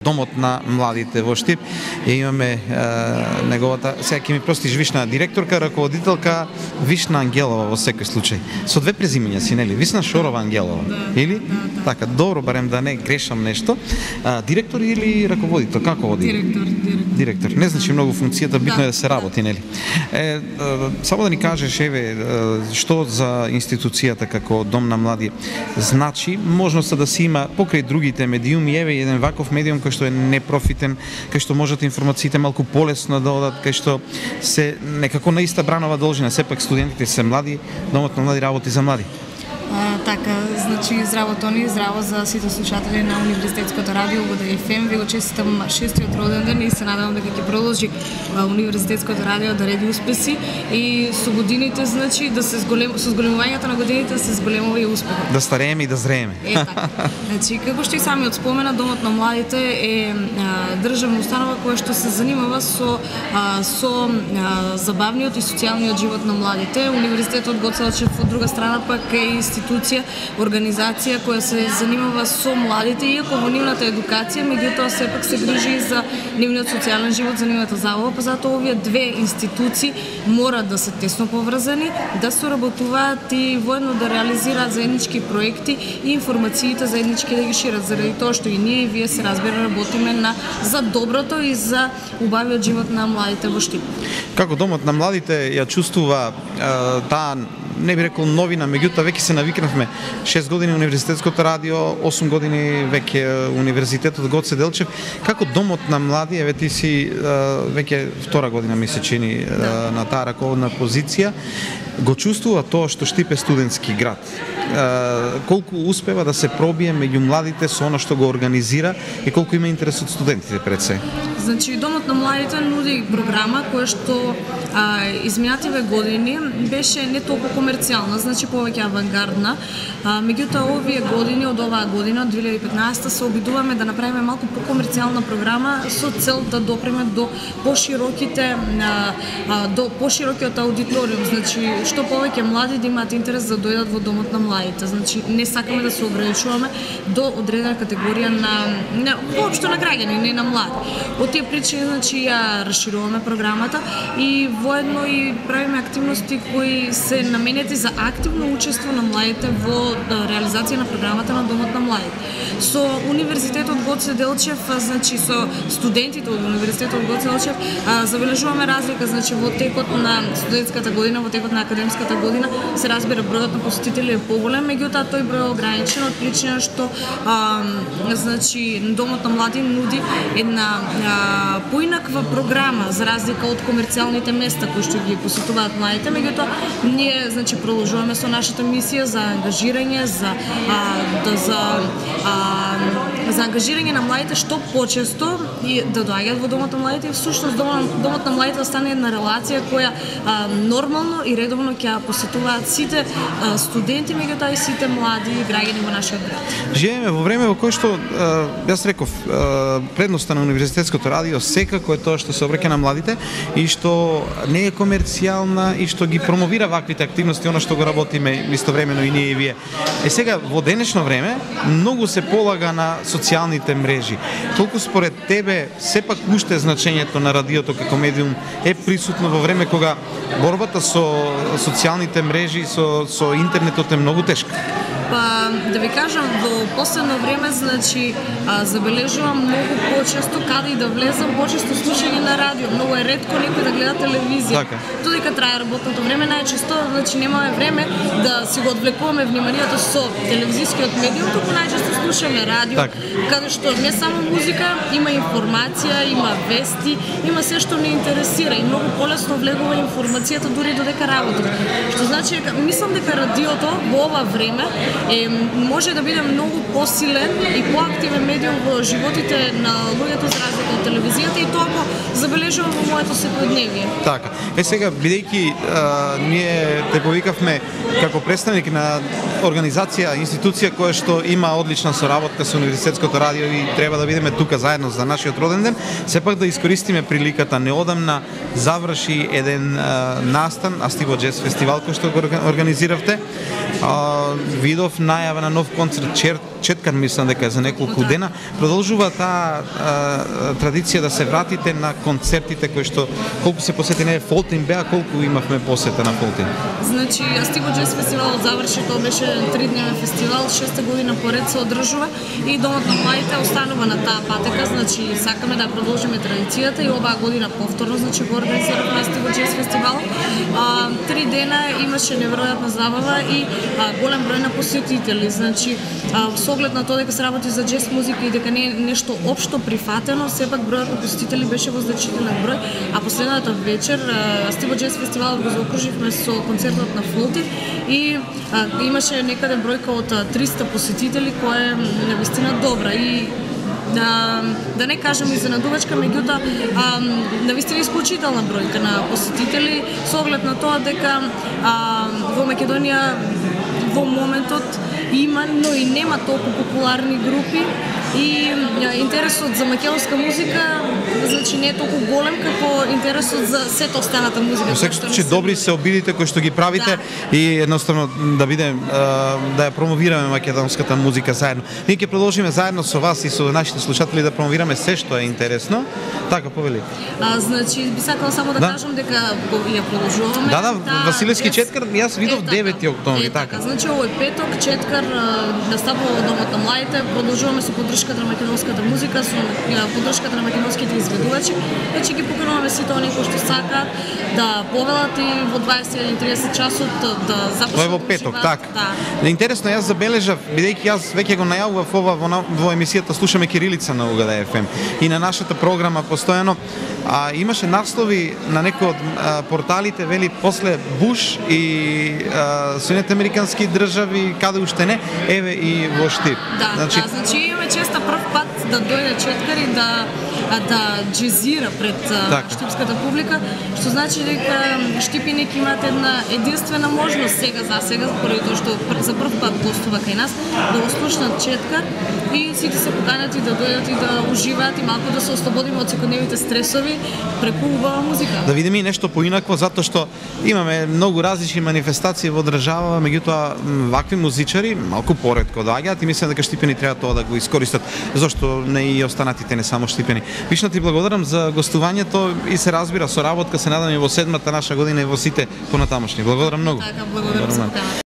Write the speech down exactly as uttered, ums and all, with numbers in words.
Домот на младите во Штип и имаме е, неговата, сега ќе ми простиш, Вишна директорка, раководителка Вишна Ангелова во секој случај. Со две презимења си, нели? Висна Шорова Ангелова. Да, или? Да, да. Така, добро, барем да не грешам нешто. А, директор или раководител? Како води? Директор, директор. Директор. Не значи многу функцијата, битно Да, е да се работи, нели? Е, е, само да ни кажеш, еве, е, што за институцијата како Дом на млади значи можноста да се има покрај другите медиуми, еве еден ваков медиум кој што е непрофитен, кај што можат информациите малку полесно да одат, кај што се некако на иста бранова должина, сепак студентите се млади, Домот на млади работи за млади. А, така, значи здраво Тони, здраво за сите слушатели на Универзитетското радио во Д Ф М. Ви го честитам шестиот роден ден и се надевам дека ќе продолжи Универзитетското радио да реди успеси и со годините, значи да се зголем со зголемувањето на годините се зголемува и успехот. Да старееме и да зрееме. Е така. Значи како што и самиот спомена, Домот на младите е а, државна установа која што се занимава со а, со а, забавниот и социјалниот живот на младите. Универзитетот Гоце Делчев од друга страна пак е институција, организација која се занимава со младите, иако во нивната едукација, меѓутоа сепак се грижи за нивниот социјален живот, за нивната забава, па затоа овие две институции мора да се тесно поврзани, да соработуваат и воедно да реализираат заеднички проекти и информациите заеднички да ги шират, заради тоа што и ние и вие се разбира работиме на за доброто и за убавиот живот на младите во Штип. Како Домот на младите ја чувствува е, таа, не би рекол новина, меѓутоа веќе се навикнавме. шест години Универзитетското радио, осум години веќе Универзитетот Гоце Делчев. Како Домот на млади, еве ти си веќе втора година ми се чини Да. на таа раководна позиција, го чувствува тоа што Штип е студентски град. Колку успева да се пробие меѓу младите со она што го организира и колку има интерес од студентите пред се? Значи, Домот на младите нуди програма која што а, изминативе години беше не толку комерцијална, значи повеќе авангардна. А, меѓутоа овие години, од оваа година, од две илјади и петнаесета, се обидуваме да направиме малку покомерцијална програма со цел да допреме до пошироките а, а, до поширокиот аудиториум, значи што повеќе млади да имаат интерес да дојдат во Домот на младите. Значи не сакаме да се ограничуваме до одредена категорија на, на воопшто на граѓани, не на млади. Од тие причини, значи, ја расшируваме програмата и воедно и правиме активности кои се наменети за активно учество на младите во реализација на програмата на Домот на младите. Со Универзитетот Гоце Делчев, значи со студентите од Универзитетот Гоце Делчев, забележуваме разлика, значи во текот на студентската година, во текот на академската година се разбира бројот на посетители е поголем, меѓутоа тој број е ограничен од причина што а, значи Домот на млади нуди една а, поинаква програма за разлика од комерцијалните места кои што ги посетуваат младите, меѓутоа ние значи продолжуваме со нашата мисија за ангажирање, за а, да, за а, за ангажирање на младите што почесто и да доаѓаат во Домот на младите и всушност Домот, Домот на младите да стане една релација која а, нормално и редовно ќе посетуваат сите а, студенти, меѓутоа и сите млади граѓани во нашиот град. Живееме во време во кое што а, јас реков а, предноста на Универзитетското радио секако е тоа што се обраќа на младите и што не е комерцијална и што ги промовира ваквите активности, она што го работиме истовремено и ние и вие. Е сега во денешно време многу се полага на социјалните мрежи. Толку според тебе сепак уште значењето на радиото како медиум е присутно во време кога борбата со социјалните мрежи, со со интернетот е многу тешка? Па, да ви кажам, во последно време, значи, а, забележувам многу почесто, каде и да влезам, почесто слушање на радио. Многу е ретко некој да гледа телевизија. Така. Додека трае работното време, најчесто, значи, немаме време да си го одвлекуваме вниманието со телевизискиот медиум, туку најчесто слушаме радио, така, каде што не само музика, има информација, има вести, има се што не интересира и многу полесно влегува информацијата дури додека работи. Што значи, мислам дека радиото во ова време е, може да биде многу посилен и поактивен медиум во животите на луѓето за разлика од телевизијата и тоа го забележувам во моето секојдневие. Така. Е сега, бидејќи ние те повикавме како представник на организација, институција која што има одлична соработка со Универзитетското радио и треба да бидеме тука заедно за нашиот роден ден, сепак да искористиме приликата. Неодамна заврши еден а, настан, Астиво Джез фестивал кој што го организиравте. А, видов најава на нов концерт, чер, Четкар, мислам дека за неколку дена, продолжува таа традиција да се вратите на концертите кои што колку се посети, не Фолтин беа, колку имавме посета на Фолтин? Значи, Астиго Джез фестивалот заврши, тоа беше тридневен фестивал, шеста година поред се одржува и Домот на младите останува на таа патека, значи сакаме да продолжиме традицијата и оваа година повторно, значи го организиравме Астиго Джез фестивал. А, три дена имаше неверојатна забава и а, голем број на посетители, значи а, со оглед на тоа дека се работи за джез музика и дека не е нешто општо прифатено, сепак бројот на посетители беше во значителен број, а последната вечер Астиго Джез фестивалот го заокруживме со концертот на Фолтин и а, имаше некаде бројка од триста посетители, која е навистина добра и да, да не кажам изненадувачка, меѓутоа навистина исклучителна бројка на посетители со оглед на тоа дека а, во Македонија во моментот има, но и нема толку популарни групи и интересот за македонска музика значи не е толку голем како интересот за сета останата музика. Во секој случај добри се обидите кои што ги правите, да. И едноставно да биде да ја промовираме македонската музика заедно. Ние ќе продолжиме заедно со вас и со нашите слушатели да промовираме се што е интересно. Така повели. А значи би сакала само да, да. кажам дека ја продолжуваме. Да, да, да Василевски четкар, јас видов девети октомври, така. Значи овој петок четкар настапува во Домот на младите, продолжуваме со поддршката на македонската музика, со поддршката на македонските изведувачи. Значи ги покануваме сите оние кои што сакаат да повелат и во дваесет или триесет часот да започнат. Тоа е во петок, така. Да. Интересно, јас забележав, бидејќи јас веќе го најавував ова во, во емисијата Слушаме кирилица на УГД еф ем и на нашата програма постојано, а, имаше наслови на некои од а, порталите, вели после Буш и Соединените американски држави, каде уште не, еве и во Штип. Да, значи, да, значи имаме честа прв пат да дојде четкар и да да джезира пред так. штипската публика, што значи дека Штипиник имаат една единствена можност сега за сега, поради тоа што за прв пат гостува кај нас, да го слушнат четкар и сите се поканати да дојдат и да уживаат и малку да се ослободиме од секојдневните стресови преку убава музика. Да видиме и нешто поинакво, затоа што имаме многу различни манифестации во држава, меѓутоа вакви музичари малку поретко доаѓаат и мислам дека Штипени треба тоа да го искористат, зашто не и останатите не само Штипени. Вишна, ти благодарам за гостувањето и се разбира со работка, се надам и во седмата наша година и во сите понатамошни. Благодарам многу. Така, благодарам за поканата.